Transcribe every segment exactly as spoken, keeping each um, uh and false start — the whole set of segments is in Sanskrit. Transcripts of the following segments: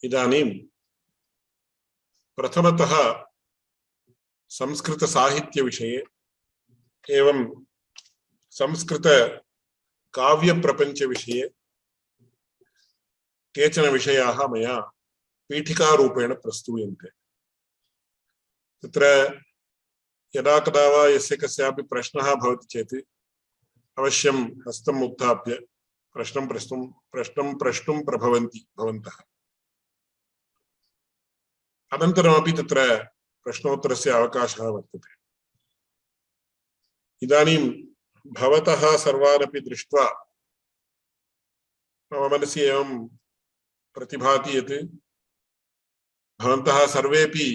इदानीं प्रथमतः संस्कृत साहित्य विषये एवं संस्कृत काव्य प्रपंच विषये केचन विषयाः मया पीठिकारूपेण प्रस्तूयन्ते। तत्र यदा कदा वा यस्य कस्यापि प्रश्नः भवति चेत् अवश्यं हस्तम् उत्थाप्य प्रश्नं प्रष्टुं प्रश्नं प्रष्टुं प्रभवन्ति भवन्तः। अनन्तरमपि तत्र प्रश्नोत्तरस्य अवकाशः वर्तते। इदानीं भवतः सर्वानपि दृष्ट्वा मम मनसि एवं प्रतिभाति यत् भवन्तः सर्वेपि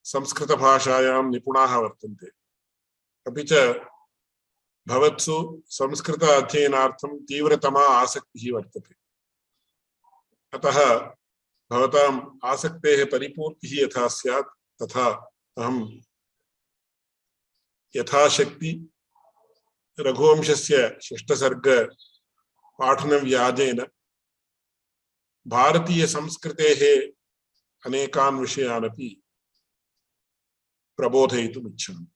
संस्कृतभाषायां निपुणाः वर्तन्ते, अपि च भवत्सु संस्कृत अध्ययनार्थं तीव्रतमा आसक्तिः वर्तते। अतः भवताम् आसक्तेः परिपूर्तिः यथा स्यात् तथा अहं यथाशक्ति रघुवंशस्य षष्ठसर्ग पाठनव्याजेन भारतीय संस्कृतेः अनेकान् विषयान् अपि प्रबोधयितुम् इच्छामि।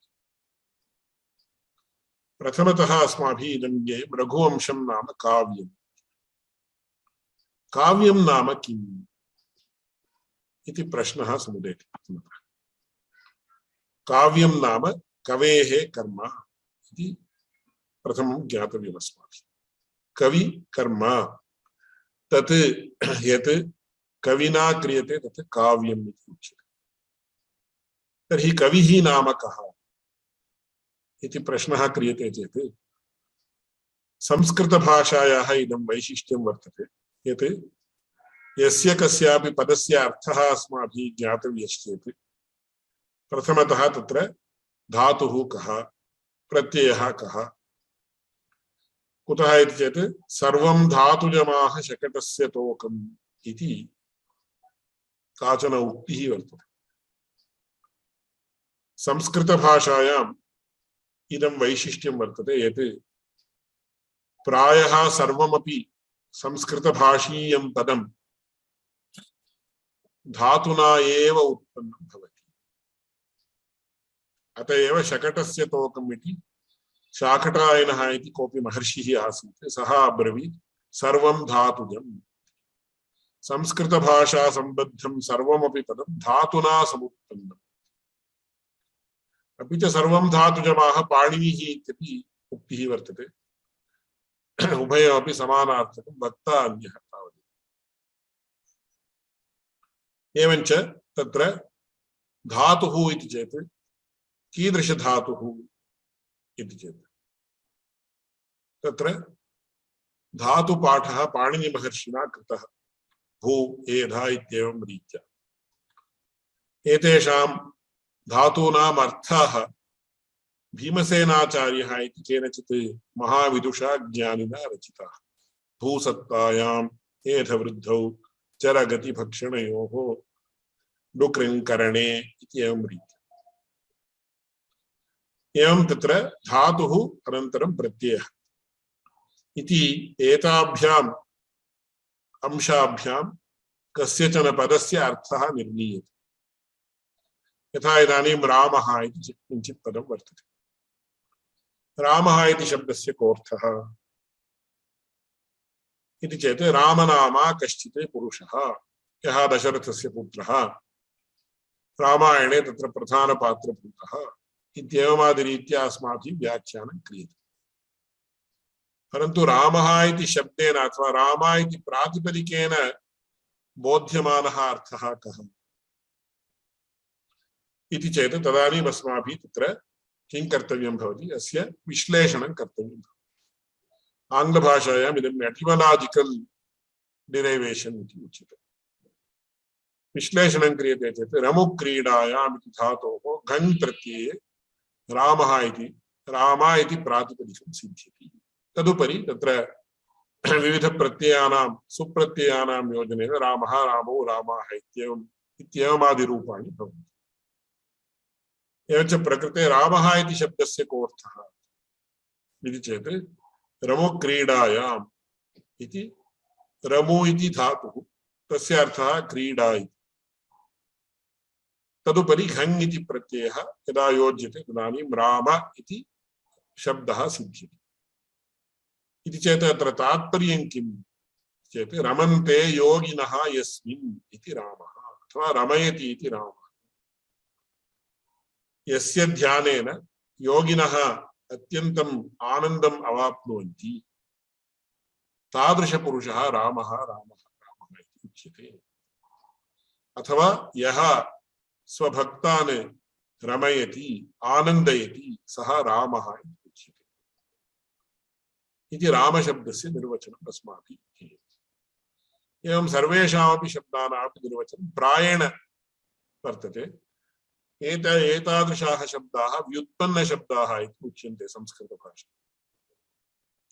प्रथमतः अस्माभिः इदं ज्ञेयं रघुवंशं नाम काव्यम्। काव्यं नाम किम् इति प्रश्नः समुदेति। काव्यं नाम कवेः कर्म इति प्रथमं ज्ञातव्यम् अस्माभिः। कवि कर्म तत् यत् कविना क्रियते तत् काव्यम् इति उच्यते। तर्हि कविः नाम कः इति प्रश्नः क्रियते चेत् संस्कृतभाषायाः इदं वैशिष्ट्यं वर्तते यत् यस्य कस्यापि पदस्य अर्थः अस्माभिः ज्ञातव्यश्चेत् प्रथमतः तत्र धातुः कः, प्रत्ययः कः। कुतः इति चेत् सर्वं धातुजमाः शकटस्य तोकम् इति काचन उक्तिः वर्तते। संस्कृतभाषायाम् इदं वैशिष्ट्यं वर्तते यत् प्रायः सर्वमपि संस्कृतभाषीयं पदं धातुना एव उत्पन्नं भवति। अत एव शकटस्य तोकम् इति शाकटायनः इति कोऽपि महर्षिः आसीत्, सः अब्रवीत् सर्वं धातुजम्। संस्कृतभाषा सम्बद्धं सर्वमपि पदं धातुना समुत्पन्नम्। अपि च सर्वं धातुजमाः पाणिनिः इत्यपि उक्तिः वर्तते। उभयमपि समानार्थकं, वक्ता अन्यः तावदेव। एवञ्च तत्र धातुः इति चेत् कीदृशधातुः इति चेत् तत्र धातुपाठः पाणिनिमहर्षिणा कृतः भू एधा इत्येवं रीत्या। एतेषां धातूनाम् अर्थाः भीमसेनाचार्यः इति केनचित् महाविदुषा ज्ञानिना रचिताः। भूसत्तायाम् एधवृद्धौ चरगतिभक्षणयोः डुकृङ्करणे इति एवं रीत्या। एवं तत्र धातुः अनन्तरं प्रत्ययः इति एताभ्याम् अंशाभ्यां कस्यचन पदस्य अर्थः निर्णीयते। यथा इदानीं रामः इति किञ्चित् पदं वर्तते। रामः इति शब्दस्य कोऽर्थः इति चेत् रामनामा कश्चित् पुरुषः, यः दशरथस्य पुत्रः, रामायणे तत्र प्रधानपात्रभूतः इत्येवमादिरीत्या अस्माभिः व्याख्यानं क्रियते। परन्तु रामः इति शब्देन अथवा राम इति प्रातिपदिकेन बोध्यमानः अर्थः कः इति चेत् तदानीम् अस्माभिः तत्र किं कर्तव्यं भवति, अस्य विश्लेषणं कर्तव्यं भवति। आङ्ग्लभाषायाम् इदम् एटिमोलाजिकल् डिरैवेशन् इति उच्यते। विश्लेषणं क्रियते चेत् रमुक्रीडायाम् इति धातोः घञ् प्रत्यये रामः इति राम इति प्रातिपदिकं सिद्ध्यति। तदुपरि तत्र विविधप्रत्ययानां सुप्रत्ययानां योजनेन रामः रामौ रामाः इत्येवम् इत्येवमादिरूपाणि भवन्ति। एवञ्च प्रकृते रामः इति शब्दस्य कोऽर्थः इति चेत् रमुक्रीडायाम् इति रमु इति धातुः तस्य अर्थः क्रीडा इति तदुपरि घङ् इति प्रत्ययः यदा योज्यते तदानीं राम इति शब्दः सिद्ध्यति इति चेत् अत्र तात्पर्यं किम् चेत् रमन्ते योगिनः यस्मिन् इति रामः अथवा रमयति इति रामः यस्य ध्यानेन योगिनः अत्यन्तम् आनन्दम् अवाप्नुवन्ति तादृशपुरुषः रामः रामः रामः इति उच्यते अथवा यः स्वभक्तान् रमयति आनन्दयति सः रामः इति उच्यते इति रामशब्दस्य निर्वचनम् अस्माभिः क्रियते एवं सर्वेषामपि शब्दानामपि निर्वचनं प्रायेण वर्तते एत एतादृशाः शब्दाः व्युत्पन्नशब्दाः इति उच्यन्ते संस्कृतभाषायां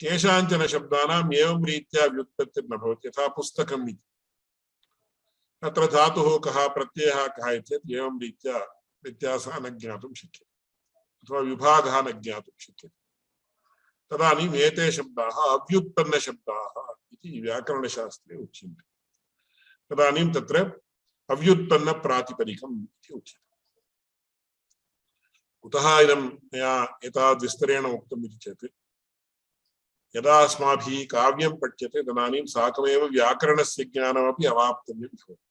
केषाञ्चन शब्दानाम् एवं रीत्या व्युत्पत्तिर्न भवति यथा पुस्तकम् इति अत्र धातुः कः प्रत्ययः कः चेत् एवं रीत्या व्यत्यासः न ज्ञातुं शक्यते अथवा विभागः न ज्ञातुं शक्यते तदानीम् एते शब्दाः अव्युत्पन्नशब्दाः इति व्याकरणशास्त्रे उच्यन्ते तदानीं तत्र अव्युत्पन्नप्रातिपदिकम् इति उच्यते कुतः इदं मया एतावद् विस्तरेण उक्तम् इति चेत् यदा अस्माभिः काव्यं पठ्यते तदानीं साकमेव व्याकरणस्य ज्ञानमपि अवाप्तव्यं भवति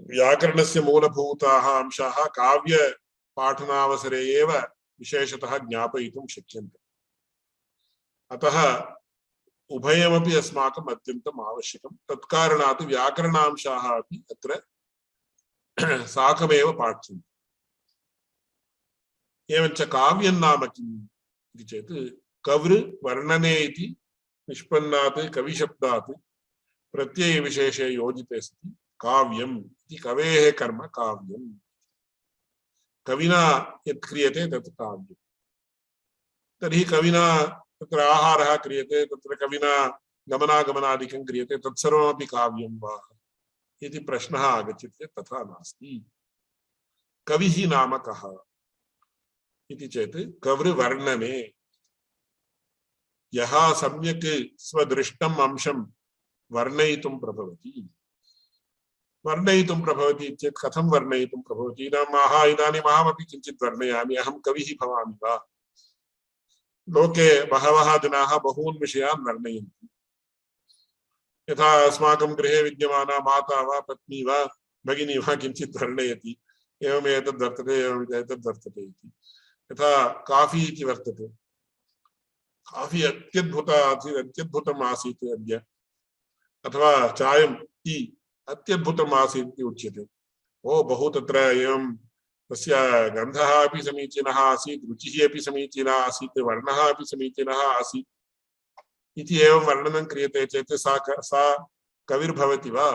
व्याकरणस्य मूलभूताः अंशाः काव्यपाठनावसरे एव विशेषतः ज्ञापयितुं शक्यन्ते अतः उभयमपि अस्माकम् अत्यन्तम् आवश्यकं तत्कारणात् व्याकरणांशाः अपि अत्र साकमेव पाठ्यन्ते एवञ्च काव्यं नाम किम् इति चेत् कवृ वर्णने इति निष्पन्नात् कविशब्दात् प्रत्ययविशेषे योजिते सति काव्यम् इति कवेः कर्म काव्यम् कविना यत् क्रियते तत् काव्यम् तर्हि कविना तत्र आहारः क्रियते तत्र कविना गमनागमनादिकं क्रियते तत्सर्वमपि काव्यं वा इति प्रश्नः आगच्छति चेत् तथा नास्ति कविः नाम कः इति चेत् कवृवर्णने यः सम्यक् स्वदृष्टम् अंशं वर्णयितुं प्रभवति वर्णयितुं प्रभवति चेत् कथं वर्णयितुं प्रभवति इदानीम् इदानीम् अहमपि किञ्चित् वर्णयामि अहं कविः भवामि वा लोके बहवः जनाः बहून् विषयान् वर्णयन्ति यथा अस्माकं गृहे विद्यमाना माता वा पत्नी वा भगिनी वा किञ्चित् वर्णयति एवम् एतद् वर्तते एवम् एतद् वर्तते इति यथा काफी इति वर्तते काफी अत्यद्भुता अत्यद्भुतम् आसीत् अद्य अथवा चायं टी अत्यद्भुतम् आसीत् इति उच्यते ओ बहु तत्र एवं तस्य गन्धः अपि समीचीनः आसीत् रुचिः अपि समीचीना आसीत् वर्णः अपि समीचीनः आसीत् इति एवं वर्णनं क्रियते चेत् सा सा कविर्भवति वा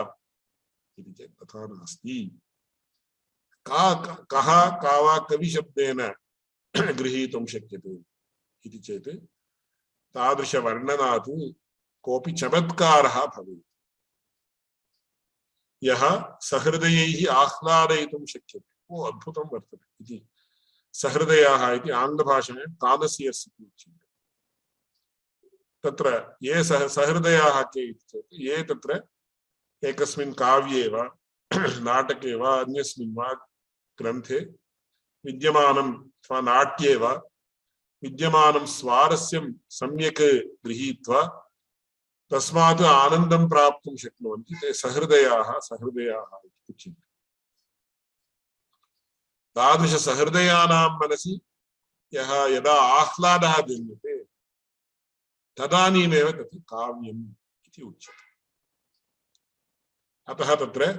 इति चेत् तथा नास्ति का कः का वा कविशब्देन गृहीतुं शक्यते इति चेत् तादृशवर्णनात् कोऽपि चमत्कारः भवेत् यः सहृदयैः आह्लादयितुं शक्यते ओ अद्भुतं वर्तते इति सहृदयाः इति आङ्ग्लभाषायां कानसियर्स् इति उच्यन्ते तत्र ये सह सहृदयाः के इति चेत् ये तत्र एकस्मिन् काव्ये वा नाटके वा अन्यस्मिन् वा ग्रन्थे विद्यमानं अथवा नाट्ये वा विद्यमानं स्वारस्यं सम्यक् गृहीत्वा तस्मात् आनन्दं प्राप्तुं शक्नुवन्ति ते सहृदयाः सहृदयाः इति उच्यन्ते तादृशसहृदयानां मनसि यः यदा आह्लादः जन्यते तदानीमेव तत् काव्यम् इति उच्यते अतः तत्र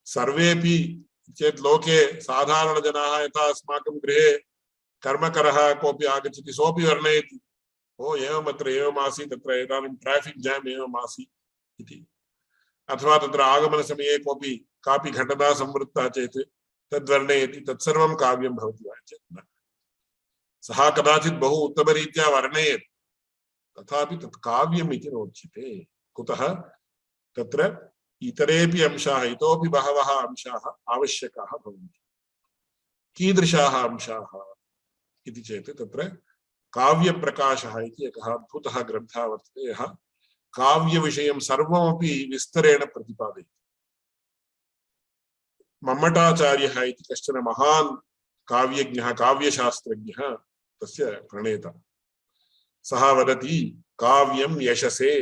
सर्वेपि चेत् लोके साधारणजनाः यथा अस्माकं गृहे कर्मकरः कोऽपि आगच्छति सोऽपि वर्णयति ओ एवम् अत्र एवम् आसीत् तत्र इदानीं ट्राफिक् जाम् एवम् आसीत् इति अथवा तत्र आगमनसमये कोऽपि कापि घटना संवृत्ता चेत् तद्वर्णयति तत्सर्वं काव्यं भवति वा चेत् न सः कदाचित् बहु उत्तमरीत्या वर्णयेत् तथापि तत् काव्यम् इति नोच्यते कुतः तत्र इतरेपि अंशाः इतोपि बहवः अंशाः आवश्यकाः भवन्ति कीदृशाः अंशाः इति चेत् तत्र काव्यप्रकाशः इति एकः अद्भुतः ग्रन्थः वर्तते, यः काव्यविषयं सर्वमपि विस्तरेण प्रतिपादयति। मम्मटाचार्यः इति कश्चन महान् काव्यज्ञः, काव्यशास्त्रज्ञः तस्य प्रणेता। सः वदति, काव्यं यशसे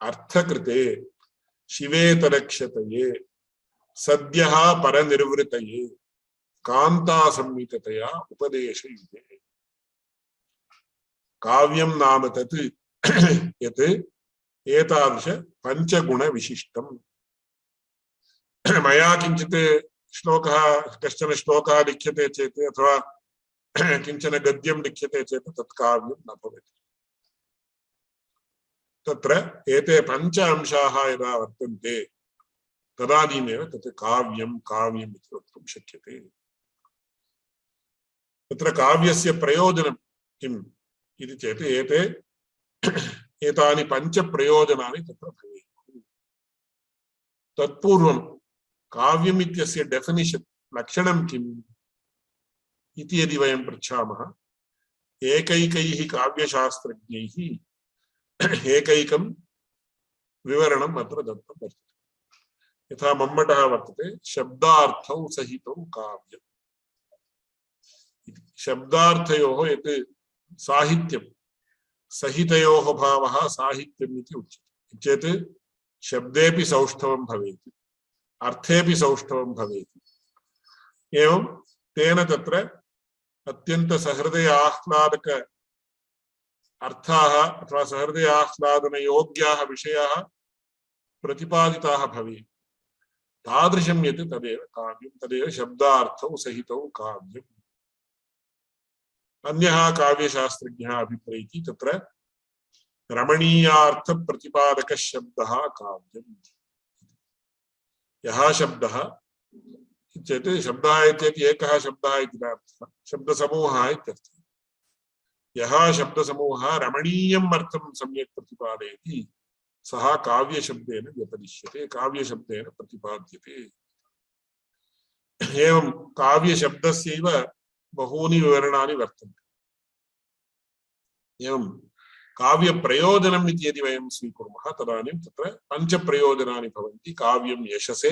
अर्थकृते शिवेतरक्षतये सद्यः परनिर्वृतये कान्तासंहिततया उपदेशयुते। काव्यं नाम तत् यत् एतादृश पञ्चगुणविशिष्टम्। मया किञ्चित् श्लोकः, कश्चन श्लोकः लिख्यते चेत् अथवा किञ्चन गद्यं लिख्यते चेत् तत् काव्यं न भवति। तत्र एते पञ्च अंशाः यदा वर्तन्ते तदानीमेव तत् काव्यं काव्यम् इति वक्तुं शक्यते। तत्र काव्यस्य प्रयोजनं किम् इति चेत् एते एतानि पञ्च प्रयोजनानि तत्र भवेयुः। तत्पूर्वं काव्यम् इत्यस्य डेफिनिशन्, लक्षणं किम् इति यदि वयं पृच्छामः, एकैकैः काव्यशास्त्रज्ञैः एकैकं विवरणम् अत्र दत्तं वर्तते। यथा मम्मटः वर्तते, शब्दार्थौ सहितौ काव्यम्। शब्दार्थयोः यत् साहित्यं, सहितयोः भावः साहित्यम् इति उच्यते। चेत् शब्देपि सौष्ठवं भवेत्, अर्थेपि सौष्ठवं भवेत्। एवं तेन तत्र अत्यन्त सहृदय आह्लादक अर्थाः अथवा सहृदय आह्लादन योग्याः विषयाः प्रतिपादिताः भवेयुः। तादृशं यत् तदेव काव्यं, तदेव शब्दार्थौ सहितौ काव्यम्। अन्यः काव्यशास्त्रज्ञः अभिप्रैति तत्र रमणीयार्थ प्रतिपादकः शब्दः काव्यम्। यः शब्दः चेत् शब्दः इत्येतत् एकः शब्दः इति नार्थः, शब्दसमूहः इत्यर्थः। यः शब्दसमूहः रमणीयम् अर्थं सम्यक् प्रतिपादयति सः काव्यशब्देन व्यपदिश्यते, काव्यशब्देन प्रतिपाद्यते। एवं काव्यशब्दस्यैव बहूनि विवरणानि वर्तन्ते। एवं काव्यप्रयोजनम् इति यदि वयं स्वीकुर्मः तदानीं तत्र पञ्चप्रयोजनानि भवन्ति। काव्यं यशसे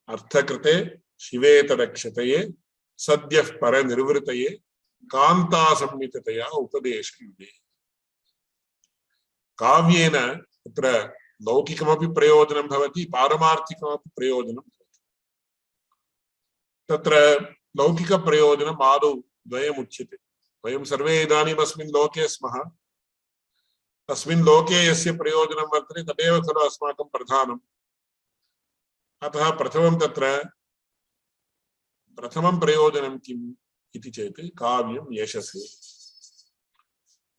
अर्थकृते शिवेतरक्षतये सद्यः परनिर्वृतये कान्तासंहिततया उपदेशयुते। काव्येन तत्र लौकिकमपि प्रयोजनं भवति, पारमार्थिकमपि प्रयोजनं भवति। तत्र लौकिकप्रयोजनम् आदौ द्वयमुच्यते। वयं सर्वे इदानीम् अस्मिन् लोके स्मः। अस्मिन् लोके यस्य प्रयोजनं वर्तते तदेव खलु अस्माकं प्रधानम्। अतः प्रथमं तत्र प्रथमं प्रयोजनं किम् इति चेत् काव्यं यशसे।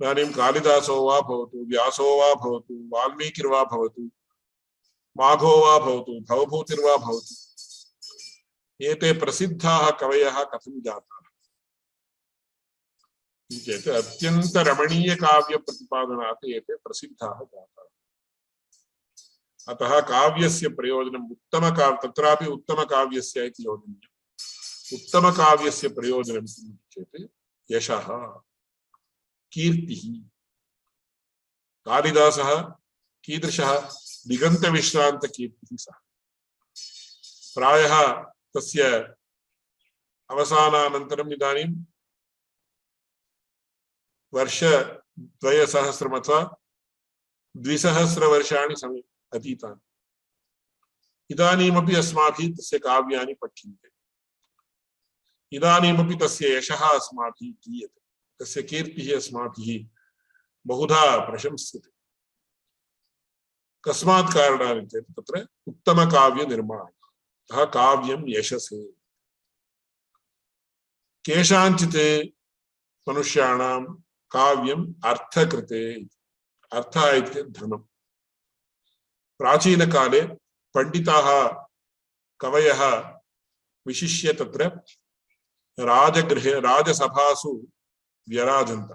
इदानीं कालिदासो वा भवतु, व्यासो वा भवतु, वाल्मीकिर्वा भवतु, माघो वा भवतु, भवभूतिर्वा भवतु, एते प्रसिद्धाः कवयः कथं जाताः चेत् अत्यन्त रमणीय काव्य प्रतिपादनात् एते प्रसिद्धाः जाताः। अतः काव्यस्य प्रयोजनम् उत्तम काव्य, तत्रापि उत्तम काव्यस्य इति योजनीयम्। उत्तम काव्यस्य प्रयोजनं किम् चेत् यशः, कीर्तिः। कालिदासः कीदृशः? दिगन्तविश्रान्तकीर्तिः सः। प्रायः तस्य अवसानानन्तरम् इदानीं वर्षद्वयसहस्रम् अथवा द्विसहस्रवर्षाणि समी अतीतानि। इदानीमपि अस्माभिः तस्य काव्यानि पठ्यन्ते। इदानीमपि तस्य यशः अस्माभिः गीयते, तस्य कीर्तिः अस्माभिः बहुधा प्रशंस्यते। कस्मात् कारणात् चेत् तत्र उत्तमकाव्यनिर्माणम्। अतः काव्यं यशसे। केषाञ्चित् मनुष्याणां काव्यम् अर्थकृते। अर्थः इति धनम्। प्राचीनकाले पण्डिताः कवयः विशिष्य तत्र राजगृहे राजसभासु व्यराजन्त।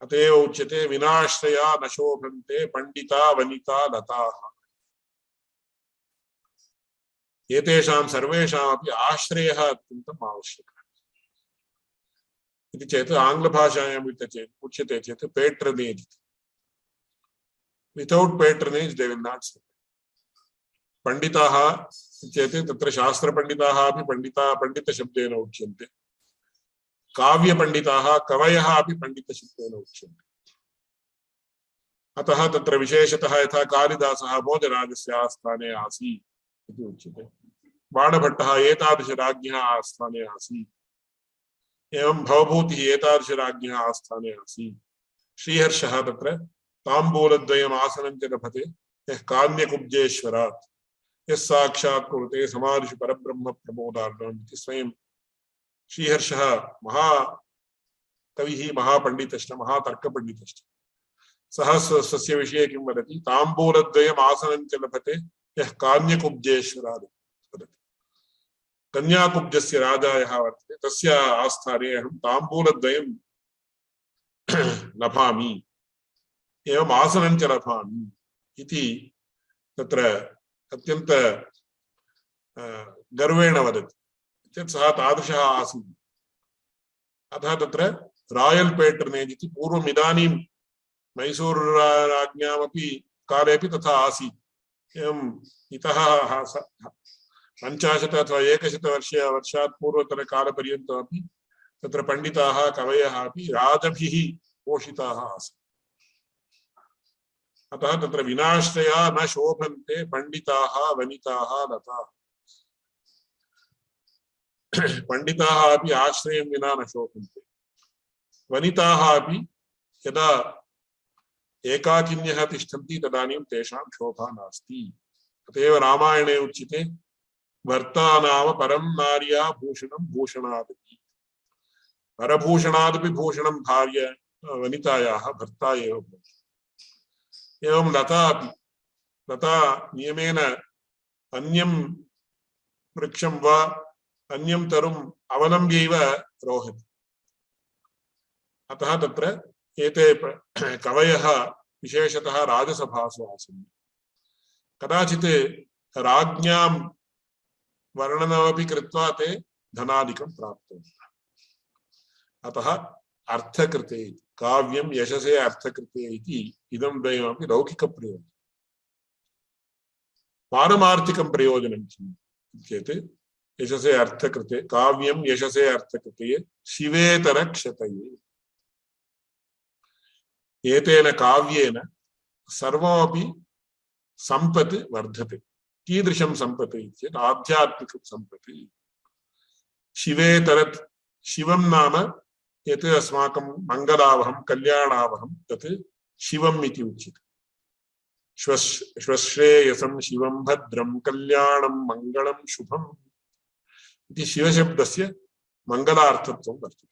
अत एव उच्यते विनाश्रया न शोभन्ते पण्डिता वनिता लताः। एतेषां सर्वेषामपि आश्रयः अत्यन्तम् आवश्यकः। इति चेत् आङ्ग्लभाषायाम् उच्यते चेत् patronage. Without patronage they will not survive. पण्डिताः चेत् तत्र शास्त्रपण्डिताः अपि पण्डिता पण्डितशब्देन उच्यन्ते, काव्यपण्डिताः कवयः अपि पण्डितशब्देन उच्यन्ते। अतः तत्र विशेषतः यथा कालिदासः भोजराजस्य आस्थाने आसीत् इति उच्यते, बाणभट्टः एतादृशराज्ञः आस्थाने आसीत्, एवं भवभूतिः एतादृशराज्ञः आस्थाने आसीत्, श्रीहर्षः तत्र ताम्बूलद्वयम् आसनं च लभते यः काम्यकुब्जेश्वरात् यः साक्षात् कुरुते समादिषु परब्रह्म प्रमोदार्णम् इति स्वयं श्रीहर्षः महाकविः महापण्डितश्च महातर्कपण्डितश्च। सः स्वस्य विषये किं वदति, ताम्बूलद्वयम् आसनं च लभते यः काम्यकुब्जेश्वरात् वदति। कन्याकुब्जस्य राजा यः वर्तते तस्य आस्थाने अहं ताम्बूलद्वयं लभामि, एवम् आसनं च लभामि इति तत्र अत्यन्त गर्वेण वदति चेत् सः तादृशः आसीत्। अतः तत्र रायल् पेट्रनेज् इति पूर्वम् इदानीं मैसूरुराज्ञामपि कालेपि तथा आसीत्। एवम् इतः पञ्चाशत् अथवा एकशतवर्षे वर्षात् पूर्वतरकालपर्यन्तमपि तत्र पण्डिताः कवयः अपि राजभिः पोषिताः आसन्। अतः तत्र विनाश्रया न शोभन्ते पण्डिताः वनिताः लता। पण्डिताः अपि आश्रयं विना न शोभन्ते, वनिताः अपि यदा एकाकिन्यः तिष्ठन्ति तदानीं तेषां शोभा नास्ति। अतएव रामायणे उच्यते भर्ता नाम परं नार्या भूषणं भूषणादपि। परभूषणादपि भूषणं भार्य वनितायाः भर्ता एव भवति। एवं लता अपि, लता नियमेन अन्यं वृक्षं वा अन्यं तरुम् अवलम्ब्यैव रोहति। अतः तत्र एते कवयः विशेषतः राजसभासु आसन्। कदाचित् राज्ञां वर्णनमपि कृत्वा ते धनादिकं प्राप्तवन्तः। अतः अर्थकृते काव्यं यशसे अर्थकृते इति इदं द्वयमपि लौकिकप्रयोजनं। पारमार्थिकं प्रयोजनं किम् चेत् यशसे अर्थकृते काव्यं यशसे अर्थकृते शिवेतरक्षतये। एतेन काव्येन सर्वमपि सम्पत् वर्धते। कीदृशं सम्पत् चेत् आध्यात्मिकं सम्पत्। शिवेतरत्, शिवं नाम यत् अस्माकं मङ्गलावहं कल्याणावहं तत् शिवम् इति उच्यते। श्वश्रेयसं शिवं भद्रं कल्याणं मङ्गलं शुभम् इति शिवशब्दस्य मङ्गलार्थत्वं वर्तते।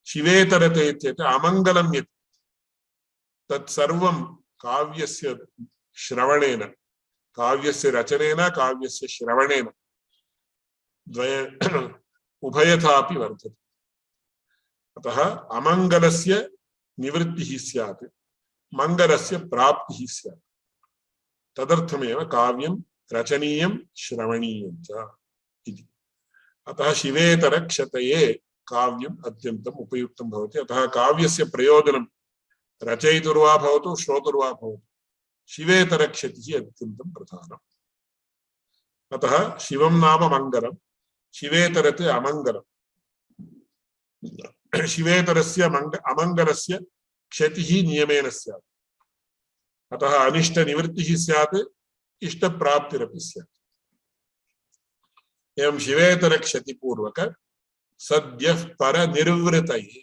शिवेतरते इत्येतत् अमङ्गलं यत् तत्सर्वं काव्यस्य श्रवणेन, काव्यस्य रचनेन काव्यस्य श्रवणेन द्वय उभयथापि वर्तते। अतः अमङ्गलस्य निवृत्तिः स्यात्, मङ्गलस्य प्राप्तिः स्यात्। तदर्थमेव काव्यं रचनीयं श्रवणीयं च इति। अतः शिवेतरक्षतये काव्यम् अत्यन्तम् उपयुक्तं भवति। अतः काव्यस्य प्रयोजनं रचयितुर्वा भवतु श्रोतुर्वा भवतु शिवेतरक्षतिः अत्यन्तं प्रधानम्। अतः शिवं नाम मङ्गलं, शिवेतरत् अमङ्गलं। शिवेतरस्य मंग अमङ्गलस्य क्षतिः नियमेन स्यात्। अतः अनिष्टनिवृत्तिः स्यात्, इष्टप्राप्तिरपि स्यात्। एवं शिवेतरक्षतिपूर्वक सद्यः परनिर्वृतये,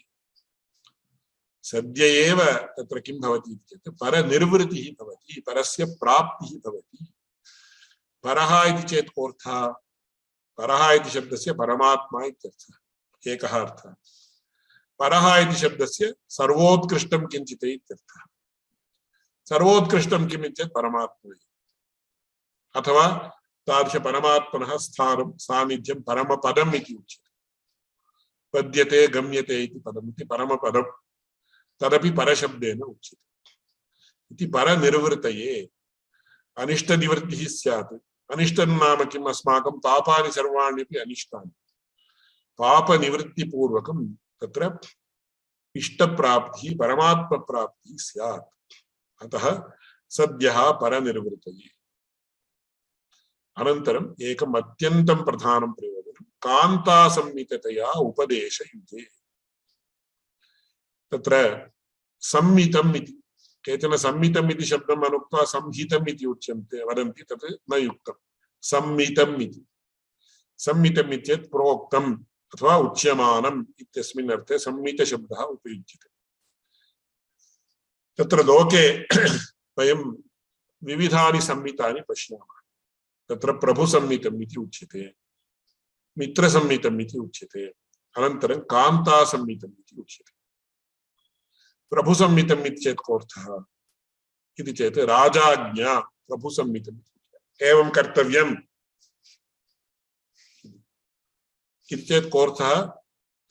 सद्य एव तत्र किं भवति चेत् परनिर्वृतिः भवति, परस्य प्राप्तिः भवति। परः इति चेत् कोऽर्थः? परः इति शब्दस्य परमात्मा इत्यर्थः, एकः अर्थः। परः इति शब्दस्य सर्वोत्कृष्टं किञ्चित् इत्यर्थः। सर्वोत्कृष्टं किम् इत्येतत् परमात्मा अथवा तादृश परमात्मनः स्थानं सान्निध्यं परमपदम् इति उच्यते। पद्यते गम्यते इति पदम् इति परमपदं, तदपि परशब्देन उच्यते। इति परनिर्वृतये अनिष्टनिवृत्तिः स्यात्। अनिष्टं नाम किम्? अस्माकं पापानि सर्वाण्यपि अनिष्टानि। पापनिवृत्तिपूर्वकं तत्र इष्टप्राप्तिः परमात्मप्राप्तिः स्यात्। अतः सद्यः परनिर्वृतये। अनन्तरम् एकम् अत्यन्तं प्रधानं प्रयोजनं कान्तासंहिततया उपदेशयुजे। तत्र संहितम् इति केचन संहितम् इति शब्दम् अनुक्त्वा संहितम् इति उच्यन्ते वदन्ति, तत् न युक्तम्। संहितम् इति संहितम् इत्येतत् प्रोक्तम् अथवा उच्यमानम् इत्यस्मिन् अर्थे संहितशब्दः उपयुज्यते। तत्र लोके वयं विविधानि संहितानि पश्यामः। तत्र प्रभुसंहितम् इति उच्यते, मित्रसंहितम् इति उच्यते, अनन्तरं कान्तासंहितम् इति उच्यते। प्रभुसंहितम् इत्येतत् कोऽर्थः इति चेत् राजाज्ञा प्रभुसंहितम् एवं कर्तव्यम् इति चेत् कोऽर्थः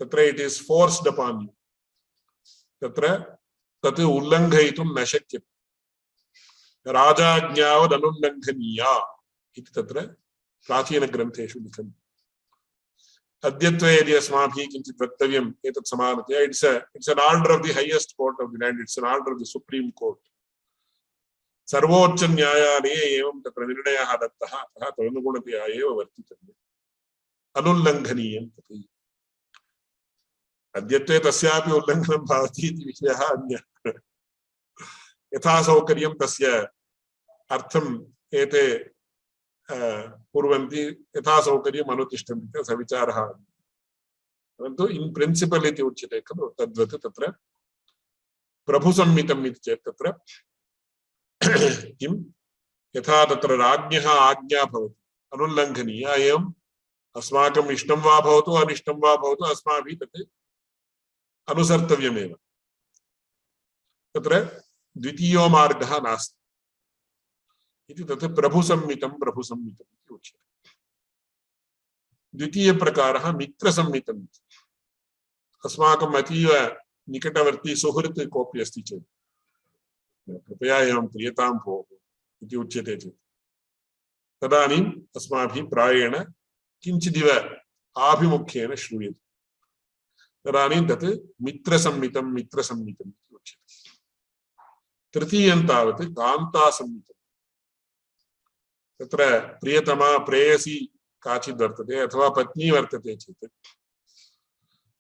तत्र इट् इस् फोर्स्ड् अपान् यू, तत्र तत् उल्लङ्घयितुं न शक्यते। राजाज्ञावदनुल्लङ्घनीया इति तत्र प्राचीनग्रन्थेषु लिखन्ति। अद्यत्वे यदि अस्माभिः किञ्चित् वक्तव्यम् एतत् समानतया it's it's N order of the highest court of the land, it's N order of the supreme court. सर्वोच्च न्यायालये एवं तत्र निर्णयः दत्तः, अतः तदनुगुणतया एव वर्तितव्यम्, अनुल्लङ्घनीयं तत्। अद्यत्वे तस्यापि उल्लङ्घनं भवति इति विषयः अन्यः। यथा सौकर्यं तस्य अर्थम् एते कुर्वन्ति, यथा सौकर्यम् अनुतिष्ठन्ति, सविचारः। परन्तु इन् प्रिन्सिपल् इति उच्यते खलु, तद्वत् तत्र प्रभुसंहितम् इति चेत् तत्र किं यथा तत्र राज्ञः आज्ञा भवति अनुल्लङ्घनीया, एवम् अस्माकम् इष्टं वा भवतु अनिष्टं वा भवतु अस्माभिः तत् अनुसर्तव्यमेव। तत्र द्वितीयो मार्गः नास्ति इति तत् प्रभुसंहितं प्रभुसंहितम् इति उच्यते। द्वितीयप्रकारः मित्रसंहितम्। अस्माकम् अतीव निकटवर्ती सुहृत् कोऽपि अस्ति चेत् कृपया एवं क्रियतां भोः इति उच्यते चेत् तदानीम् अस्माभिः प्रायेण किञ्चिदिव आभिमुख्येन श्रूयते। तदानीं तत् मित्रसंहितं मित्रसंहितम् इति उच्यते। तृतीयं तावत् कान्तासंहितम्। तत्र प्रियतमा प्रेयसी काचित् वर्तते अथवा पत्नी वर्तते चेत्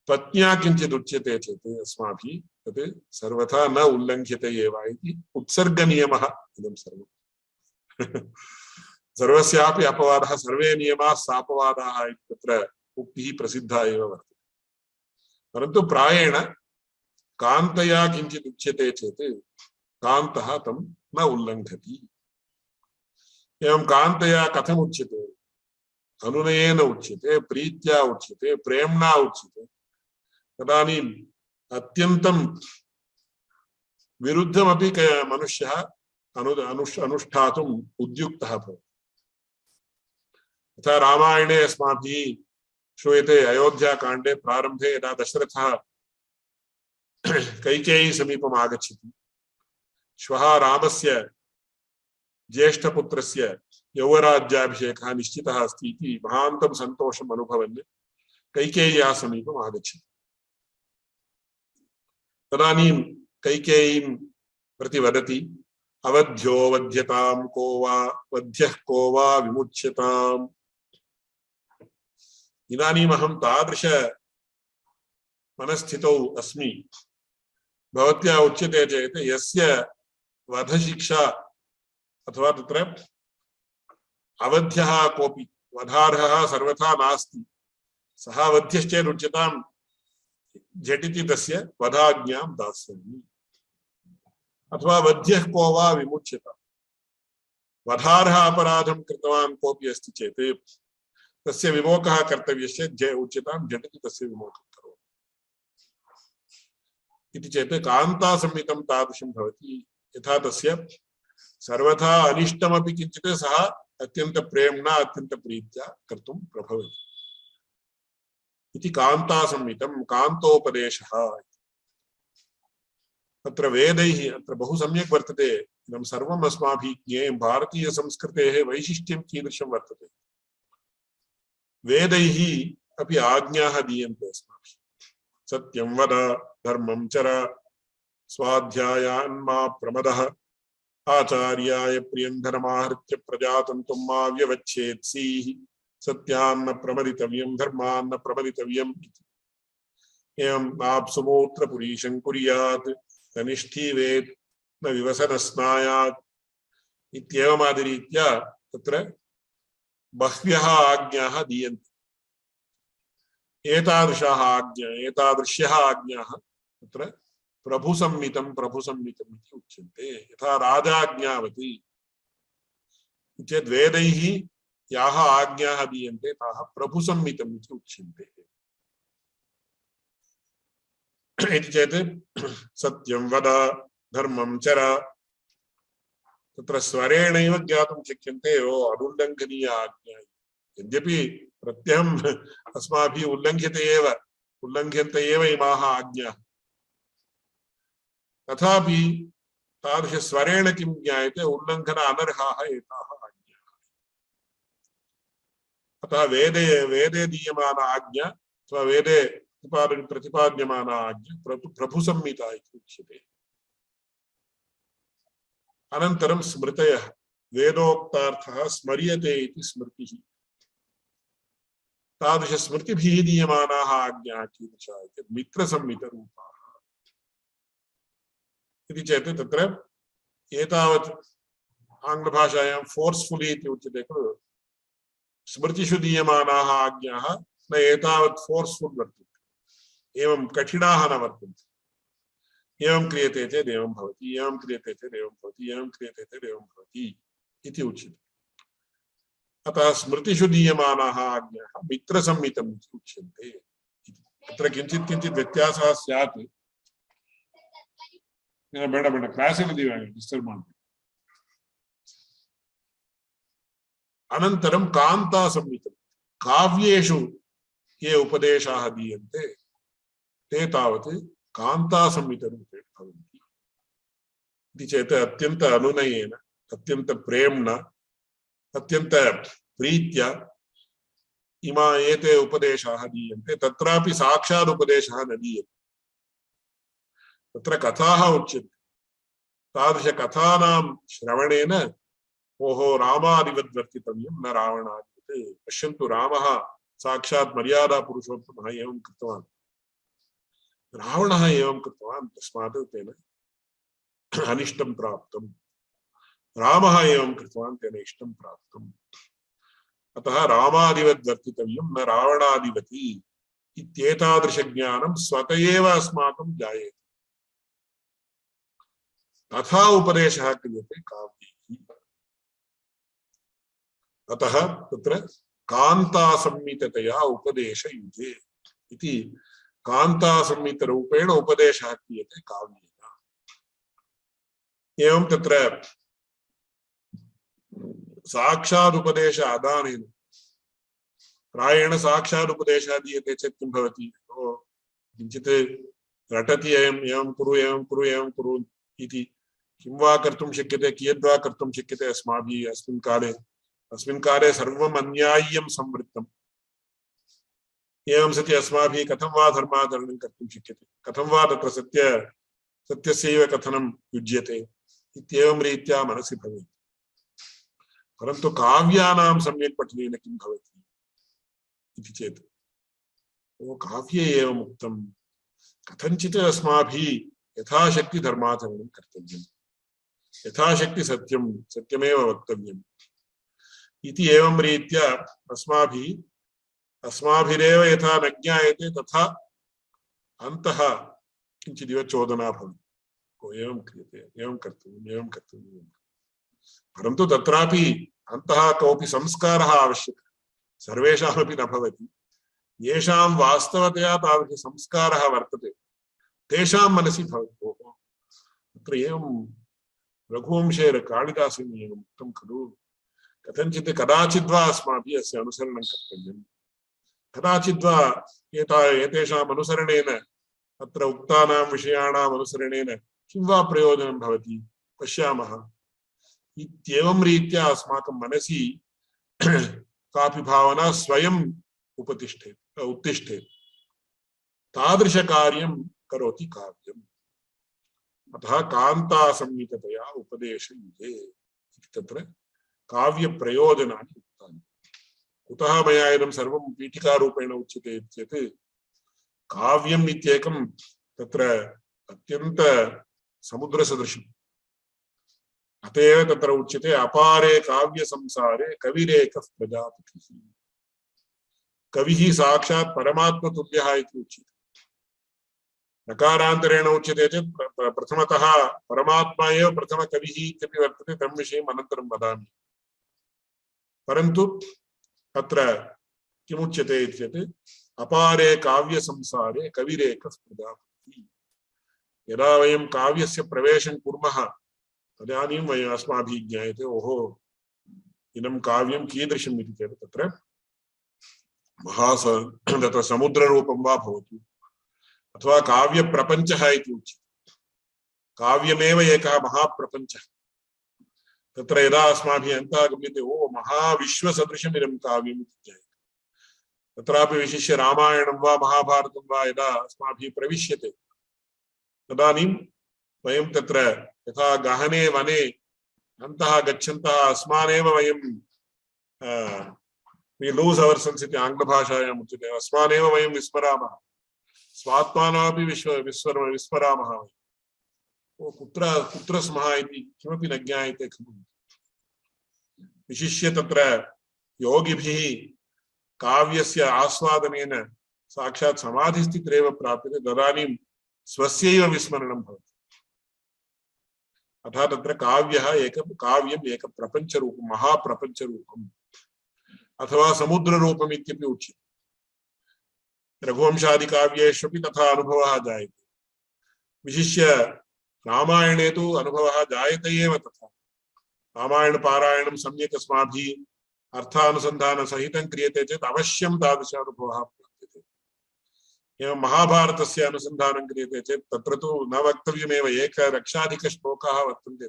पत्न्या किञ्चित् उच्यते चेत् अस्माभिः तत् सर्वथा न उल्लङ्घ्यते एव इति उत्सर्गनियमः इदं सर्वम्। सर्वस्यापि अपवादः, सर्वे नियमाः सापवादाः इति तत्र उक्तिः प्रसिद्धा एव वर्तते। परन्तु प्रायेण कान्तया किञ्चित् उच्यते चेत् कान्तः तं न उल्लङ्घति। एवं कान्तया कथम् उच्यते? अनुनयेन उच्यते, प्रीत्या उच्यते, प्रेम्णा उच्यते। तदानीम् अत्यन्तं विरुद्धमपि मनुष्यः अनु अनुष्ठातुम् उद्युक्तः भवति। तथा रामायणे अस्माभिः श्रूयते, अयोध्याकाण्डे प्रारम्भे यदा दशरथः कैकेयी समीपम् आगच्छति, श्वः रामस्य ज्येष्ठपुत्रस्य यौवराज्याभिषेकः निश्चितः अस्ति इति महान्तं सन्तोषम् अनुभवन् कैकेय्याः समीपम् आगच्छति। तदानीं कैकेयीं प्रति वदति, अवध्यो वध्यतां को वा वध्यः को वा विमुच्यताम्। इदानीम् अहं तादृश मनस्थितौ अस्मि, भवत्या उच्यते चेत् यस्य वधशिक्षा अथवा तत्र अवध्यः कोऽपि वधार्हः सर्वथा नास्ति, सः वध्यश्चेत् उच्यतां झटिति तस्य वधाज्ञां दास्यामि। अथवा वध्यः को वा विमुच्यताम्। वधार्हः अपराधं कृतवान् कोऽपि अस्ति चेत् तस्य विमोकः कर्तव्यश्चेत् उच्यतां झटिति तस्य विमोकं करोतु इति चेत् कान्तासंहितं तादृशं भवति। यथा तस्य सर्वथा अनिष्टमपि किञ्चित् सः अत्यन्तप्रेम्णा अत्यन्तप्रीत्या कर्तुं प्रभवति इति कान्तासंहितं, कान्तोपदेशः। अत्र वेदैः अत्र बहु सम्यक् वर्तते। इदं सर्वम् अस्माभिः ज्ञेयं। भारतीयसंस्कृतेः वैशिष्ट्यं कीदृशं वर्तते। वेदैः अपि आज्ञाः दीयन्ते अस्माभिः। सत्यं वद, धर्मं चर, स्वाध्यायान् मा प्रमदः, आचार्याय प्रियं धर्माहृत्य प्रजातन्तुं मा व्यवच्छेत्सीः, सत्यान्न प्रमदितव्यं धर्मान्न प्रमदितव्यम् इति। एवं नाप्सुमूत्र पुरीशं कुर्यात्, तनिष्ठीवेत् न विवसनस्नायात् इत्येवमादिरीत्या तत्र बह्व्यः आज्ञाः दीयन्ते। एतादृशाः आज्ञा एतादृश्यः आज्ञाः तत्र प्रभुसम्मितं प्रभुसम्मितम् इति उच्यन्ते। यथा राजाज्ञावति चेत् वेदैः याः आज्ञाः दीयन्ते ताः प्रभुसम्मितम् इति उच्यन्ते। इति चेत् सत्यं वद, धर्मं चर, तत्र स्वरेणैव ज्ञातुं शक्यन्ते ओ अनुल्लङ्घनीया आज्ञा। यद्यपि प्रत्यहम् अस्माभिः उल्लङ्घ्यते एव उल्लङ्घ्यन्ते एव इमाः आज्ञाः, तथापि तादृशस्वरेण किं ज्ञायते, उल्लङ्घन अनर्हाः एताः आज्ञाः। अतः वेदे वेदे दीयमाना आज्ञा अथवा वेदे प्रतिपाद्यमाना आज्ञा प्रभुसम्मिता इति उच्यते। अनन्तरं स्मृतयः, वेदोक्तार्थः स्मर्यते इति स्मृतिः। तादृशस्मृतिभिः दीयमानाः आज्ञाः कीदृशाः इति मित्रसम्मितरूपाः इति चेत् तत्र एतावत् आङ्ग्लभाषायां फोर्स्फुली इति उच्यते खलु। स्मृतिषु दीयमानाः आज्ञाः न एतावत् फोर्स्फुल् वर्तन्ते, एवं कठिनाः न वर्तन्ते। एवं क्रियते चेत् एवं भवति, एवं क्रियते चेत् एवं भवति, एवं क्रियते चेत् एवं भवति इति उच्यते। अतः स्मृतिषु दीयमानाः आज्ञाः मित्रसम्मितम् इति उच्यन्ते। अत्र किञ्चित् किञ्चित् व्यत्यासः स्यात्। ಬೇಡ ಬೇಡ ಕ್ಲಾಸಲ್ಲಿ ಡಿಸ್ಟರ್ಬ್ ಮಾಡಿ. अनन्तरं कान्तासम्मितं, काव्येषु ये उपदेशाः दीयन्ते ते तावत् कान्तासम्मितरूपेण भवन्ति। इति चेत् अत्यन्त अनुनयेन, अत्यन्त प्रेम्णा, अत्यन्त प्रीत्या इमा एते उपदेशाः दीयन्ते। तत्रापि साक्षात् उपदेशः न दीयते, तत्र कथाः उच्यन्ते। तादृशकथानां श्रवणेन ओहो रामादिवद्वर्तितव्यं न रावणादिवत्। पश्यन्तु, रामः साक्षात् मर्यादा पुरुषोत्तमः एवं कृतवान्, रावणः एवं कृतवान्, तस्मात् तेन अनिष्टं प्राप्तं। रामः एवं कृतवान्, तेन इष्टं प्राप्तम्। अतः रामादिवद्वर्तितव्यं न रावणादिवत् इत्येतादृशज्ञानं स्वत एव अस्माकं जायेते। तथा उपदेशः क्रियते काव्यैः। अतः तत्र कान्तासम्मिततया उपदेशयुजे इति कान्तासम्मितरूपेण उपदेशः क्रियते काव्येन। एवं तत्र साक्षादुपदेश आदानेन प्रायेण साक्षादुपदेशः दीयते चेत् किं भवति, किञ्चित् रटति, एवं एवं कुरु एवं कुरु एवं कुरु इति किं वा कर्तुं शक्यते, कियद्वा कर्तुं शक्यते अस्माभिः। अस्मिन् काले अस्मिन् काले सर्वम् अन्याय्यं संवृत्तम्। एवं सति अस्माभिः कथं वा धर्माचरणं कर्तुं शक्यते, कथं वा तत्र सत्य सत्यस्यैव कथनं युज्यते इत्येवं रीत्या मनसि भवेत्। परन्तु काव्यानां सम्यक् पठनेन किं भवति इति चेत्, ओ काव्ये एवम् उक्तं, कथञ्चित् अस्माभिः यथाशक्ति धर्माचरणं कर्तव्यम्, यथाशक्ति सत्यं सत्यमेव वक्तव्यम् इति एवं रीत्या अस्माभिः अस्माभिरेव यथा न ज्ञायते तथा अन्तः किञ्चिदिव चोदना भवति। ओ एवं क्रियते, एवं कर्तव्यम्, एवं कर्तव्यम्। परन्तु तत्रापि अन्तः कोऽपि संस्कारः आवश्यकः, सर्वेषामपि न भवति। येषां वास्तवतया तादृशसंस्कारः वर्तते तेषां मनसि भवति, ओहो तत्र एवं रघुवंशे कालिदासेन एवम् उक्तं खलु, कथञ्चित् कदाचिद्वा अस्माभिः अस्य अनुसरणं कर्तव्यम्, कदाचिद्वा एता एतेषाम् अनुसरणेन अत्र उक्तानां विषयाणाम् अनुसरणेन किं वा प्रयोजनं भवति पश्यामः इत्येवं रीत्या अस्माकं मनसि कापि भावना स्वयम् उपतिष्ठेत्। उत्तिष्ठेत् तादृशकार्यं करोति काव्यम्। अतः कान्तासंहितया उपदेशयुजे तत्र काव्यप्रयोजनानि उक्तानि। कुतः मया इदं सर्वं पीठिकारूपेण उच्यते चेत् काव्यम् इत्येकं तत्र अत्यन्त समुद्रसदृशम्। अत एव तत्र उच्यते अपारे काव्यसंसारे कविरेकः प्रजापतिः। कविः साक्षात् परमात्मतुल्यः इति उच्यते। नकारान्तरेण उच्यते चेत् प्रथमतः परमात्मा एव प्रथमकविः इत्यपि वर्तते, तं विषये अनन्तरं वदामि। परन्तु अत्र किमुच्यते चेत् अपारे काव्यसंसारे कविरेकः प्रजापतिः। यदा वयं काव्यस्य प्रवेशं कुर्मः तदानीं वयम् अस्माभिः ज्ञायते ओहो इदं काव्यं कीदृशम् इति चेत् तत्र महास तत्र समुद्ररूपं वा भवतु अथवा काव्यप्रपञ्चः इति उच्यते। काव्यमेव एकः महाप्रपञ्चः। तत्र यदा अस्माभिः अन्तः गम्यते ओ महाविश्वसदृशम् इदं काव्यम् इति ज्ञायते। तत्रापि विशिष्य रामायणं वा महाभारतं वा यदा अस्माभिः प्रविश्यते तदानीं वयं तत्र यथा गहने वने अन्तः गच्छन्तः अस्मानेव वयं we lose ourselves इति आङ्ग्लभाषायाम् उच्यते। अस्मानेव वयं विस्मरामः, स्वात्मानमपि विश्व विस्मर विस्मरामः। ओ कुत्र कुत्र स्मः इति किमपि न ज्ञायते खलु। विशिष्य तत्र योगिभिः काव्यस्य आस्वादनेन साक्षात् समाधिस्थितिरेव प्राप्यते, तदानीं स्वस्यैव विस्मरणं भवति। अतः तत्र काव्यः एक काव्यम् एक प्रपञ्चरूपं महाप्रपञ्चरूपम् अथवा समुद्ररूपम् इत्यपि उच्यते। रघुवंशादिकाव्येष्वपि तथा अनुभवः जायते। विशिष्य रामायणे तु अनुभवः जायते एव तथा। रामायणपारायणं सम्यक् अस्माभिः अर्थानुसन्धानसहितं क्रियते चेत् अवश्यं तादृश अनुभवः प्राप्यते। एवं महाभारतस्य अनुसन्धानं क्रियते चेत् तत्र तु न वक्तव्यमेव, एकलक्षाधिकश्लोकाः वर्तन्ते।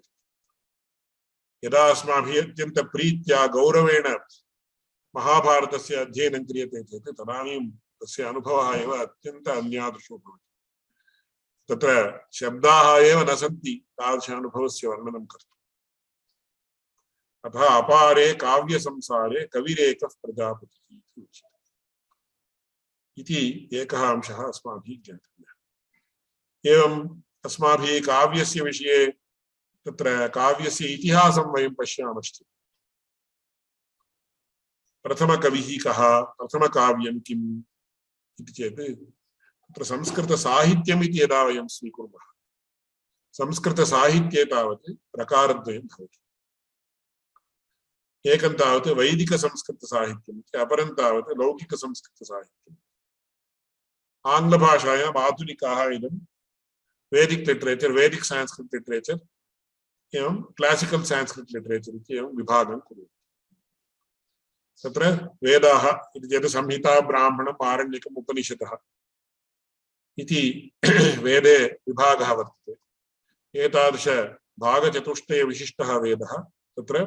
यदा अस्माभिः अत्यन्तप्रीत्या गौरवेण महाभारतस्य अध्ययनं क्रियते चेत् तदानीं तस्य अनुभवः एव अत्यन्त अन्यादृशो भवति। तत्र शब्दाः एव न सन्ति तादृश अनुभवस्य वर्णनं कर्तुम्। अतः अपारे काव्यसंसारे कविरेकः प्रजापतिः इति उच्यते। इति एकः अंशः अस्माभिः ज्ञातव्यः। एवम् अस्माभिः काव्यस्य विषये तत्र काव्यस्य इतिहासं वयं पश्यामश्चेत् प्रथमकविः कः, प्रथमकाव्यं किम् इति चेत् तत्र संस्कृतसाहित्यम् इति यदा वयं स्वीकुर्मः, संस्कृतसाहित्ये तावत् प्रकारद्वयं भवति। एकं तावत् वैदिकसंस्कृतसाहित्यम् इति, अपरं तावत् लौकिकसंस्कृतसाहित्यम्। आङ्ग्लभाषायाम् आधुनिकाः इदं Vedic literature, Vedic Sanskrit literature एवं क्लासिकल् संस्कृत लिटरेचर् इति एवं विभागं कुर्वन्ति। तत्र वेदाः इति चेत् संहिता, ब्राह्मणम्, आरण्यकम्, उपनिषदः इति वेदे विभागः वर्तते। एतादृश भागचतुष्टय विशिष्टः वेदः तत्र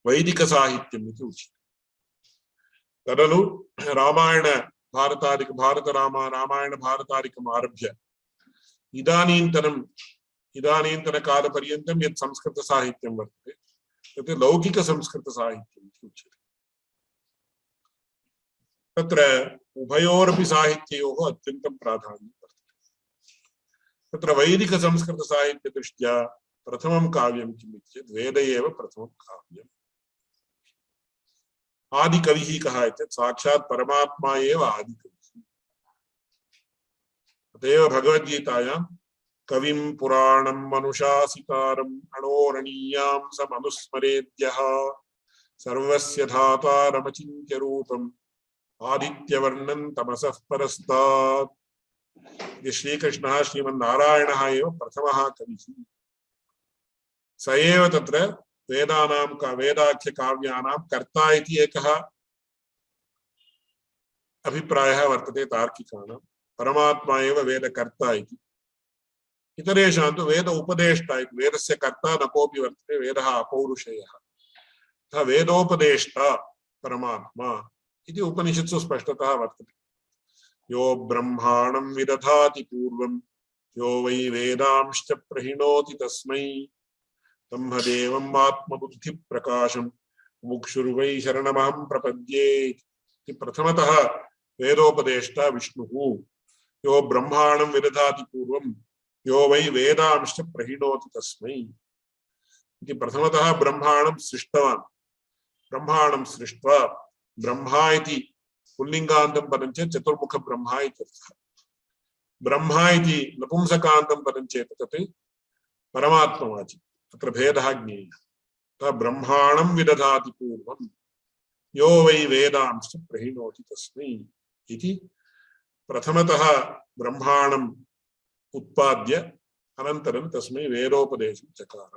वैदिकसाहित्यम् इति उच्यते। तदनु रामायण भारतादिक भारत राम रामायण भारतादिकम् आरभ्य इदानीन्तनम् इदानीन्तनकालपर्यन्तं यत् संस्कृतसाहित्यं वर्तते तत् लौकिकसंस्कृतसाहित्यम् इति उच्यते। तत्र उभयोरपि साहित्ययोः अत्यन्तं प्राधान्यं वर्तते। तत्र वैदिकसंस्कृतसाहित्यदृष्ट्या प्रथमं काव्यं किम् इति चेत् वेद एव प्रथमं काव्यम्। आदिकविः कः इत्येतत् साक्षात् परमात्मा एव आदिकविः। अतएव भगवद्गीतायां कविं पुराणं मनुषासितारम् अणोरणीयां समनुस्मरेद्यः सर्वस्य धातारमचिन्त्य रूपम् आदित्यवर्णं तमसः परस्तात्। श्रीकृष्णः श्रीमन्नारायणः एव प्रथमः कविः। स एव तत्र वेदानां का वेदाख्य काव्यानां कर्ता इति एकः अभिप्रायः वर्तते तार्किकाणां। परमात्मा एव वेदकर्ता इति। इतरेषां तु वेद उपदेष्टा इति। वेदस्य कर्ता न कोऽपि वर्तते, वेदः अपौरुषेयः। अतः वेदोपदेष्टा परमात्मा इति उपनिषत्सु स्पष्टतः वर्तते। यो ब्रह्माणं विदधाति पूर्वं यो वै वेदांश्च प्रहिणोति तस्मै ब्रह्मदेवम् आत्मबुद्धिप्रकाशं मुमुक्षुर्वै शरणमहं प्रपद्ये इति प्रथमतः वेदोपदेष्टा विष्णुः। यो ब्रह्माणं विदधाति पूर्वं यो वै वेदांश्च प्रहिणोति तस्मै इति प्रथमतः ब्रह्माणं सृष्टवान्। ब्रह्माणं सृष्ट्वा ब्रह्मा इति पुल्लिङ्गान्तं पदं चेत् चतुर्मुख ब्रह्मा इत्यर्थः। ब्रह्मा इति नपुंसकान्तं पदं चेत् तत् परमात्मवाचि, तत्र भेदः ज्ञेयः। ब्रह्माणं विदधाति पूर्वं यो वै वेदांश्च प्रहिणोति तस्मै इति प्रथमतः ब्रह्माणम् उत्पाद्य अनन्तरं तस्मै वेदोपदेशं चकार।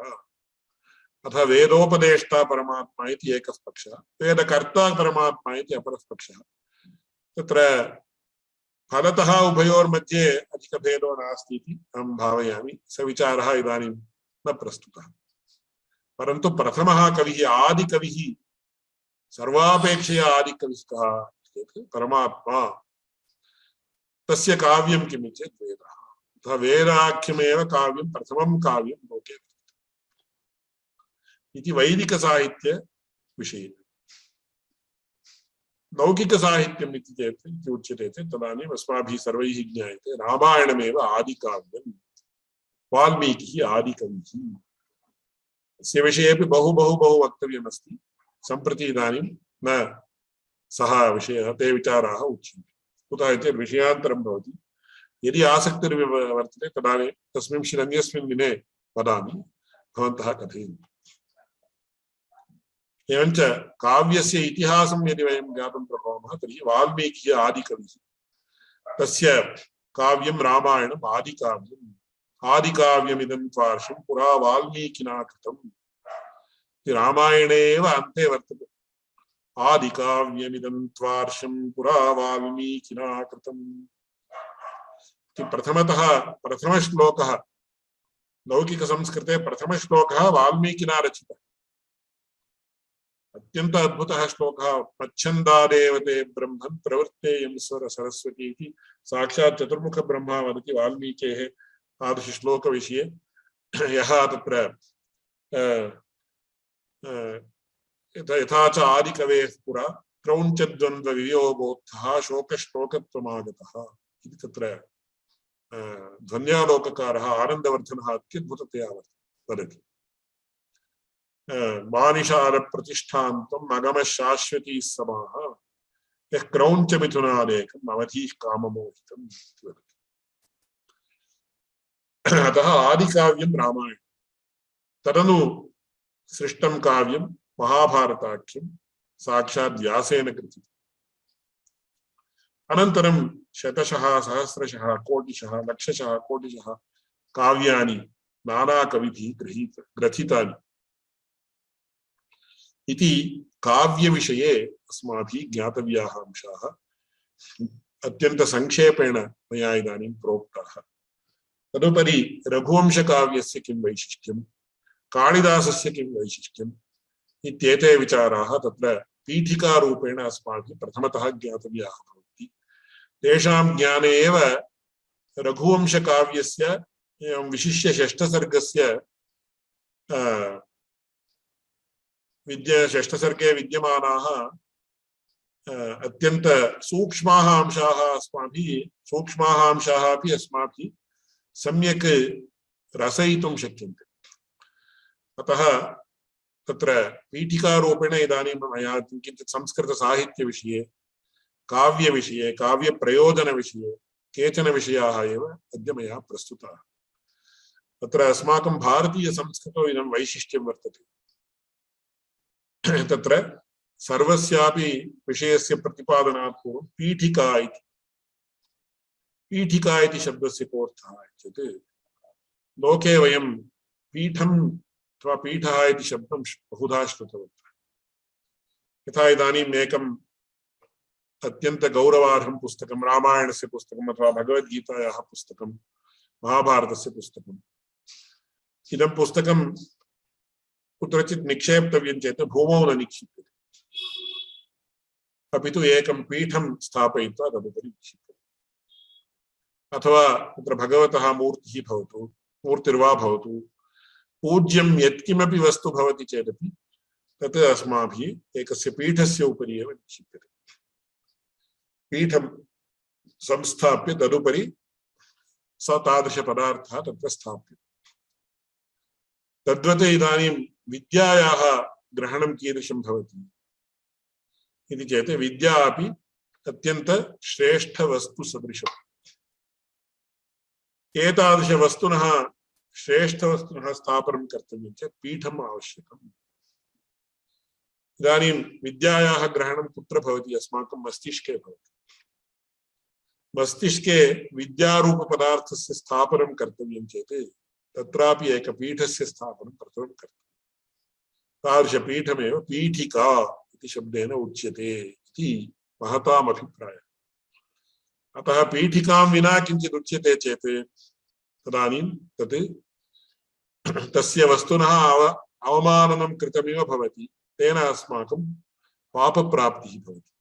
अथ वेदोपदेष्टा परमात्मा इति एकः पक्षः, वेदकर्ता परमात्मा इति अपरः पक्षः। तत्र फलतः उभयोर्मध्ये अधिकभेदो नास्ति इति अहं भावयामि। स विचारः इदानीं न प्रस्तुतः। परन्तु प्रथमः कविः आदिकविः, सर्वापेक्षया आदिकविः कः चेत् परमात्मा। तस्य काव्यं किम् चेत् वेदः। अतः वेदाख्यमेव काव्यं प्रथमं काव्यं लोके इति वैदिकसाहित्य विषये। लौकिकसाहित्यम् इति चेत् इति उच्यते चेत् तदानीम् अस्माभिः सर्वैः ज्ञायते रामायणमेव आदिकाव्यं, वाल्मीकिः आदिकविः। अस्य विषयेपि बहु बहु बहु वक्तव्यमस्ति। सम्प्रति इदानीं न सः विषयः, ते विचाराः उच्यन्ते। कुतः इति विषयान्तरं भवति। यदि आसक्तिर्वर्तते तदानीं तस्मिंश्चिन् अन्यस्मिन् दिने वदामि, भवन्तः कथयन्तु। एवञ्च काव्यस्य इतिहासं यदि वयं ज्ञातुं प्रभवामः तर्हि वाल्मीकिः आदिकविः। तस्य काव्यं रामायणम् आदिकाव्यम्। आदिकाव्यमिदं त्वार्षं पुरा वाल्मीकिना कृतम्। रामायणे एव अन्ते वर्तते आदिकाव्यमिदं त्वार्षं पुरा वाल्मीकिना कृतम् इति प्रथमतः प्रथमश्लोकः। लौकिकसंस्कृते प्रथमश्लोकः वाल्मीकिना रचितः। अत्यंत अद्भुतः श्लोकः। मच्छन्दादेव ते ब्रह्मन् प्रवृत्तेयं स्वर सरस्वती इति साक्षात् चतुर्मुख ब्रह्मा वदति वाल्मीकेः तादृशश्लोकविषये। यः तत्र यथा च आदिकवेः पुरा क्रौञ्चद्वन्द्ववियोगोत्थः शोकश्लोकत्वमागतः इति तत्र ध्वन्यालोककारः आनन्दवर्धनः अत्युद्भुततया वदति। मानिषार प्रतिष्ठान्तं अगमः शाश्वती समाः यः क्रौञ्च मिथुनादेकम् अवधीः काममोहितम्। अतः आदिकाव्यं रामायणं। तदनु सृष्टं काव्यं महाभारताख्यं साक्षात् व्यासेन कृतम्। अनन्तरं शतशः सहस्रशः कोटिशः लक्षशः कोटिशः काव्यानि नानाकविभिः गृहीत ग्रथितानि इति काव्यविषये अस्माभिः ज्ञातव्याः अंशाः अत्यन्त संक्षेपेण मया इदानीं प्रोक्ताः। तदुपरि रघुवंशकाव्यस्य किं वैशिष्ट्यं, कालिदासस्य किं वैशिष्ट्यम् इत्येते विचाराः तत्र पीठिकारूपेण अस्माभिः प्रथमतः ज्ञातव्याः भवन्ति। तेषां ज्ञाने एव रघुवंशकाव्यस्य विशिष्य षष्ठसर्गस्य विद्या षष्ठसर्गे विद्यमानाः अत्यंत सूक्ष्माः अंशाः अस्माभिः सूक्ष्माः अंशाः अपि अस्माभिः सम्यक् रसयितुं शक्यन्ते। अतः तत्र पीठिकारूपेण इदानीं मया किञ्चित् संस्कृतसाहित्यविषये, काव्यविषये, काव्यप्रयोजनविषये केचन विषयाः एव अद्य मया प्रस्तुताः। तत्र अस्माकं भारतीयसंस्कृतौ इदं वैशिष्ट्यं वर्तते। तत्र सर्वस्यापि विषयस्य प्रतिपादनात् पूर्वं पीठिका इति पीठिका इति शब्दस्य कोऽर्थः इत्युक्ते लोके वयं पीठम् अथवा पीठः इति शब्दं बहुधा श्रुतवन्तः। यथा इदानीम् एकम् अत्यन्त गौरवार्हं पुस्तकं रामायणस्य पुस्तकम् अथवा भगवद्गीतायाः पुस्तकं महाभारतस्य पुस्तकम्, इदं पुस्तकं कुत्रचित् निक्षेप्तव्यं चेत् भूमौ न निक्षिप्यते। अपि तु एकं पीठं स्थापयित्वा तदुपरि निक्षिप्यते। अथवा तत्र भगवतः मूर्तिः भवतु, मूर्तिर्वा भवतु, पूज्यं यत्किमपि वस्तु भवति चेदपि तत् अस्माभिः एकस्य पीठस्य उपरि एव निक्षिप्यते। पीठं संस्थाप्य तदुपरि स तादृशपदार्थः तत्र स्थाप्यते। तद्वत् इदानीं विद्यायाः ग्रहणं कीदृशं भवति इति चेत् विद्या अपि अत्यन्त श्रेष्ठवस्तुसदृशम्। एतादृशवस्तुनः श्रेष्ठवस्तुनः स्थापनं कर्तव्यं चेत् पीठम् आवश्यकम्। इदानीं विद्यायाः ग्रहणं कुत्र भवति? अस्माकं मस्तिष्के भवति। मस्तिष्के विद्यारूपपदार्थस्य स्थापनं कर्तव्यं चेत् तत्रापि एकपीठस्य स्थापनं प्रथमं कर्तव्यं। तादृशपीठमेव पीठिका इति शब्देन उच्यते इति महताम् अभिप्रायः। अतः पीठिकां विना किञ्चित् उच्यते चेत् तदानीं तत् तस्य वस्तुनः अव अवमाननं कृतमिव भवति। तेन अस्माकं पापप्राप्तिः भवति।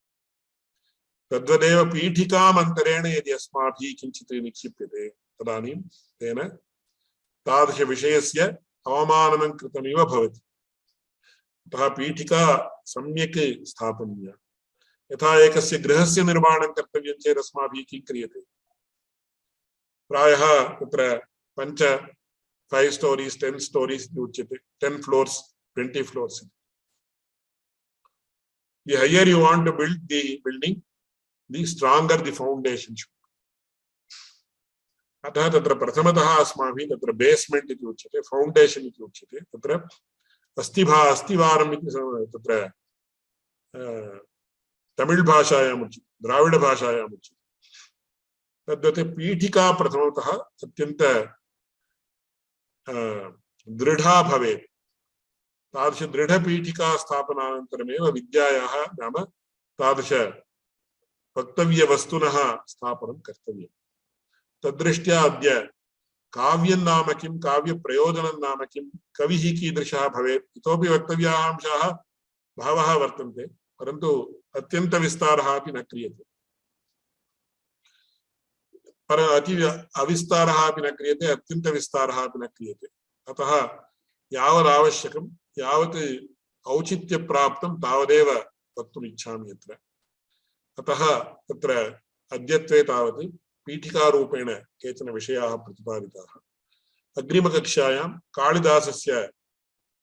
तद्वदेव पीठिकाम् अन्तरेण यदि अस्माभिः किञ्चित् निक्षिप्यते तदानीं तेन तादृशविषयस्य अवमाननं कृतमिव भवति। अतः पीठिका सम्यक् स्थापनीया। यथा एकस्य गृहस्य निर्माणं कर्तव्यं चेत् अस्माभिः किं क्रियते? प्रायः तत्र पञ्च फैव् स्टोरीस् टेन् स्टोरीस् इति उच्यते। Ten floors twenty floors. The higher you want to build the building, the stronger the foundation should be. अतः तत्र प्रथमतः अस्माभिः तत्र बेस्मेंट इति उच्यते, फाउंडेशन इति उच्यते। तत्र अस्तिभा अस्तिवारम् इति तत्र तमिळ् भाषायाम् उच्यते, द्राविड भाषायाम् उच्यते। तद्वत् पीठिका प्रथमतः अत्यन्त दृढा भवेत्। तादृश दृढपीठिका स्थापनानन्तरमेव विद्यायाः नाम तादृश वक्तव्यवस्तुनः स्थापनं कर्तव्यम्। तद्दृष्ट्या अद्य काव्यं नाम किं, काव्यप्रयोजनं नाम किं, कविः कीदृशः भवेत् इतोपि वक्तव्याः अंशाः बहवः वर्तन्ते, परन्तु अत्यन्तविस्तारः अपि न क्रियते। पर अति अविस्तारः अपि न क्रियते, अत्यन्तविस्तारः अपि न क्रियते। अतः यावदावश्यकं यावत् औचित्यप्राप्तं तावदेव वक्तुम् इच्छामि अत्र। अतः तत्र अद्यत्वे तावत् पीठिकारूपेण केचन विषयाः प्रतिपादिताः। अग्रिमकक्षायां कालिदासस्य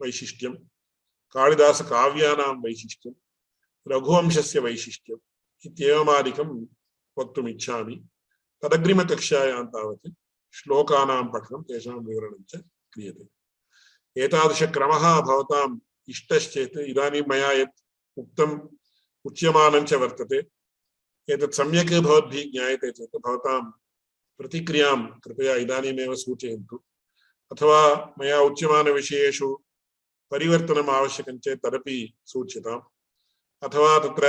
वैशिष्ट्यं, कालिदासकाव्यानां वैशिष्ट्यं, रघुवंशस्य वैशिष्ट्यम् इत्येवमादिकं वक्तुम् इच्छामि। तदग्रिमकक्षायां तावत् श्लोकानां पठनं, तेषां विवरणं च क्रियते। एतादृशक्रमः भवताम् इष्टश्चेत् इदानीं मया यत् उक्तम् उच्यमानं च वर्तते, एतत् सम्यक् भवद्भिः ज्ञायते चेत् भवतां प्रतिक्रियां कृपया इदानीमेव सूचयन्तु। अथवा मया उच्यमानविषयेषु परिवर्तनम् आवश्यकं चेत् तदपि सूच्यताम्। अथवा तत्र